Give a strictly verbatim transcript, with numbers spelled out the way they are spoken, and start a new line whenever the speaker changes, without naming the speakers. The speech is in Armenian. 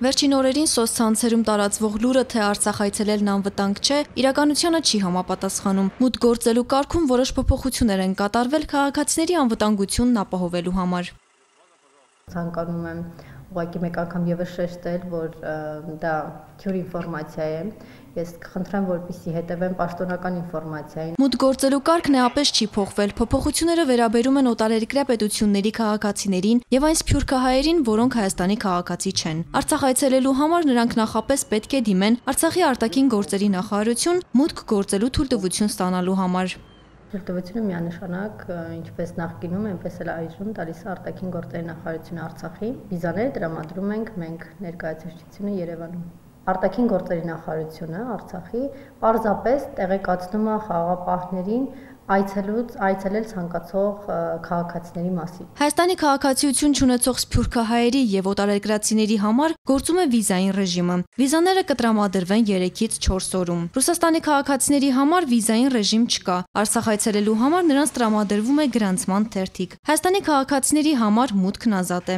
Վերջին օրերին սոցցանցերում տարածվող լուրը, թե Արցախ այցելելն անվտանգ չէ, իրականությանը չի համապատասխանում։ Մուտք գործելու կարգում որոշ փոփոխություններ են կատարվել քաղաքացիների անվտանգությունն ապահովելու համար։
Ցանկանում եմ ուղղակի մեկ անգամ եւս շեշտել, որ դա թյուր ինֆորմացիա է։ Ես կխնդրեմ, որպեսզի հետևեմ պաշտոնական ինֆորմացիային։
Մուտք գործելու կարգն էապես չի փոխվել։ Փոփոխությունները վերաբերում են օտարերկրյա պետությունների քաղաքացիներին եւ այն սփյուռքահայերին, որոնք Հայաստանի քաղաքացի չեն։ Արցախ այցելելու համար նրանք նախապես պետք է դիմեն Արցախի արտաքին գործերի նախարարություն մուտք գործելու թույլտվություն ստանալու համար։
Թույլտվությունը միանշանակ, ինչպես նախկինում, այնպես էլ այժմ տալիս է արտաքին գործերի նախարարությունը Արցախի։ Վիզաները տրամադրում ենք մենք ներկայացուցչությունը Երևանում։ Արտաքին գործերի նախարարությունը Արցախի պարզապես տեղեկացնում է խաղաղապահներին այցելուց այցելել ցանկացող քաղաքացիների մասին։
Հայաստանի քաղաքացիություն չունեցող սփյուռքահայերի եւ օտարերկրացիների համար գործում է վիզային ռեժիմը։ Վիզաները կտրամադրվեն երեքից չորս օրում։ Ռուսաստանի քաղաքացիների համար վիզային ռեժիմ չկա։ Արցախ այցելելու համար նրանց տրամադրվում է գրանցման թերթիկ։ Հայաստանի քաղաքացիների համար մուտքն ազատ է։